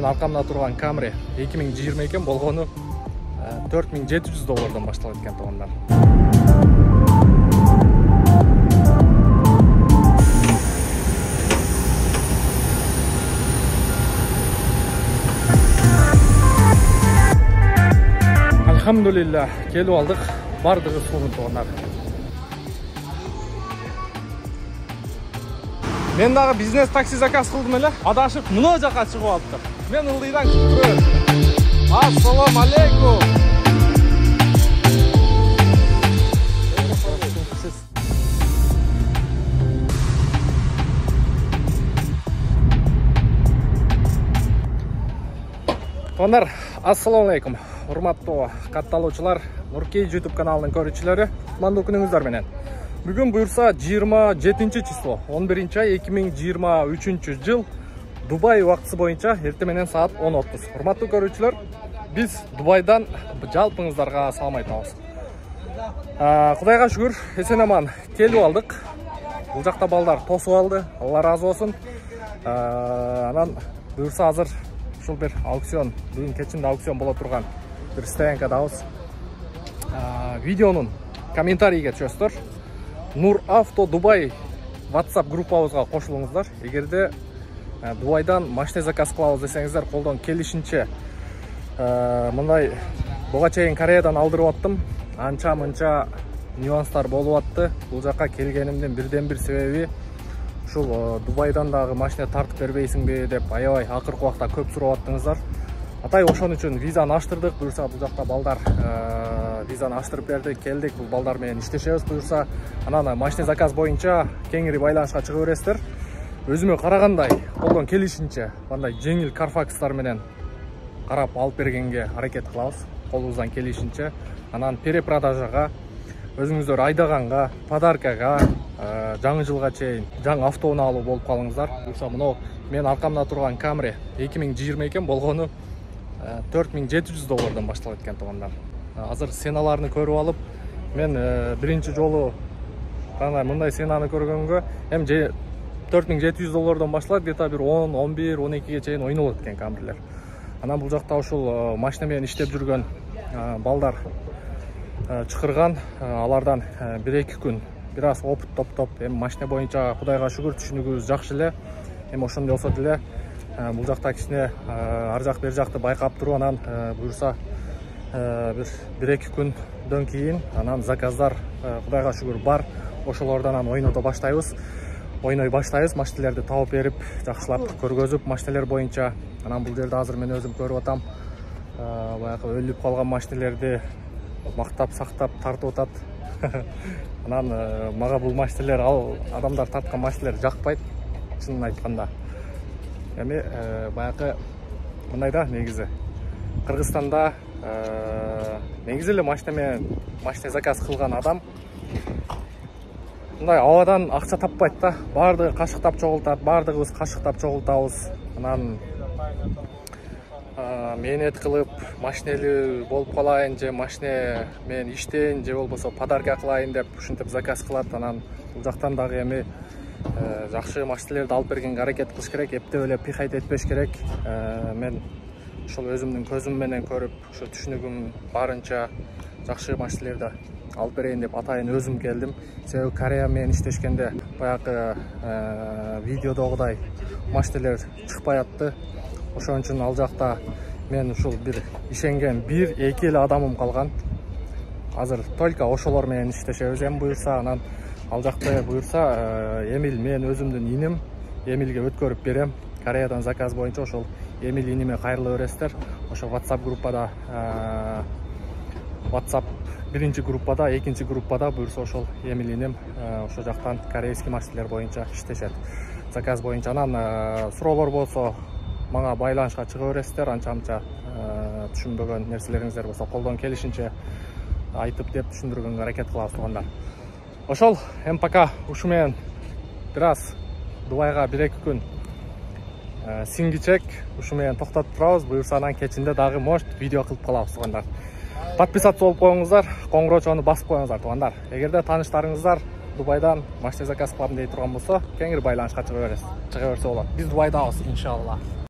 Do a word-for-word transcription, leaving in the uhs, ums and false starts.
мен аркамда турган Camry эки миң жыйырма экен, болгону төрт миң жети жүз доллардан башталат экен туугандар. Алхамдулилlah, келип алдык. Бардыгы сонун туугандар. Мен дагы бизнес такси заказ кылдым эле. Адашып мына жака чыгып алыптыр. Мен ылдыйдан күтүп турам. Ассаламу алейкум. Туугандар, ассаламу алейкум. Урматтуу катталуучулар, Нуркей YouTube каналынын көрүүчүлөрү, кутмандуу күнүңүздөр менен. Бүгүн буюрса жыйырма жетинчи число, он биринчи ай эки миң жыйырма үчүнчү жыл, Дубай убактысы боюнча эртең менен саат он отуз. Урматтуу көрүүчүлөр, биз Дубайдан жалпыңыздарга салам айтабыз. Кудайга шүгүр, эсен аман келип алдык. Бул жакта балдар тосуп алды, Алла ыраазы болсун. Анан буюрса азыр ушул бир аукцион, бүгүн кечинде аукцион боло турган бир стоянкадабыз. Видеонун комментарийге түшөсүздөр. Нур Авто Дубай WhatsApp группабызга кошулуңуздар. Эгерде Дубайдан машина заказ кылабыз десеңиздер, колдон келишинче мындай буга чейин Кореядан алдырып аттым. Анча-мынча нюанстар болуп атты. Бул жака келгенимдин бирден бир себеби ушул Дубайдан дагы машина тартып бербейсиңби деп аябай акыркы убакта көп сурап аттыңыздар. Атай ошон үчүн визаны аштырдык. Буюрса бул жакта балдар визаны аштырып берди, келдик. Бул балдар менен иштешебиз. Буюрса анан машина заказ боюнча кеңири байланышка чыга бересиздер. Өзүмө карагандай, колдон келишинче мындай жеңил карфакстар менен карап алып бергенге аракет кылабыз. Колубуздан келишинче. Анан перепродажага, өзүңүздөр айдаганга, подаркага, жаңы жылга чейин жаңы автоуну алуу болуп калыңыздар. Буюрса мына мен аркамда турган Camry эки миң жыйырма экен, болгону төрт миң жети жүз доллардан башталат экен туугандар. Азыр сеналарны көрүп алып, мен биринчи жолу мындай сенаны көргөнгө эми төрт миң жети жүз доллардан башталат, где-то бир он, он бир, он экиге чейин ойнолот экен Camry'лер. Анан бул жакта ушул машина менен иштеп жүргөн балдар чакырган, алардан бир эки күн бир аз опыт топтоп, эми машина боюнча Кудайга шүгүр түшүнүгүбүз жакшы эле. Эми ошондой болсо деле бул жакта кичине ар жак бер жакты байкап туруп, анан буюрса бир бир эки күндөн кийин анан заказдар Кудайга шүгүр бар. Ошолордон анан ойното баштайбыз. Ойной баштайбыз, машиналерди табып берип, жакшылап көргөзүп, машиналер боюнча. Анан бул жерде азыр мен өзүм көрүп атам. Баягы өлүп калган машиналерди мактап, сактап тартып атат. Анан мага бул машиналер, ал адамдар тарткан машиналер жакпайт, чынын айтканда. Эми баягы мындай да, негизи Кыргызстанда негизи эле машина менен машина заказ кылган адам мындай абадан акча таппайт да. Бардыгы кашыктап чогултат, бардыгыбыз кашыктап чогултабыз. Анан мээнет кылып, машинели болуп калайын же машина менен иштейин же болбосо подарка кылайын деп ушинтип заказ кылат. Анан бул жактан дагы эми жакшы машиналерди алып бергенге аракет кылыш керек, эптеп эле пихайт этпеш керек. Мен ошол өзүмдүн көзүм менен көрүп, ошо түшүнүгүм барынча жакшы машиналерди алып берейин деп атайын өзүм келдим. Себеби Корея менен иштешкенде баягы видеодогудай машиналер чыкпай атты. Ошон үчүн ал жакта мен ушул бир ишенген бир эки эле адамым калган. Азыр только ошолор менен иштешебиз. Эми буюрса анан ал жакта буюрса Эмил, мен өзүмдүн иним Эмилге өткөрүп берем. Кореядан заказ боюнча ошол Эмил иниме кайрыла бересиздер. Ошо WhatsApp группада WhatsApp биринчи группада, экинчи группада буюрса ошол Эмил иним ошо жактан корейский машиналер боюнча иштешет. Заказ боюнча анан суроолор болсо мага байланышка чыга бересиздер. Анча-мынча түшүнбөгөн нерселериңиздер болсо колдон келишинче айтып деп түшүндүргөнгө аракет кылабыз туугандар. Ошол эми пока ушу менен бир аз Дубайга бир эки күн сиңгичек ушу менен токтотуп турабыз. Буюрса анан кечинде дагы может видео кылып калабыз туугандар. Подписаться болуп коюңуздар, коңгурочону басып коюңуздар туугандар. Эгерде тааныштарыңыздар Дубайдан машина заказ кылам дей турган болсо, кеңири байланышка чыга бересиз. Чыга берсе болот. Биз Дубайдабыз, иншалла.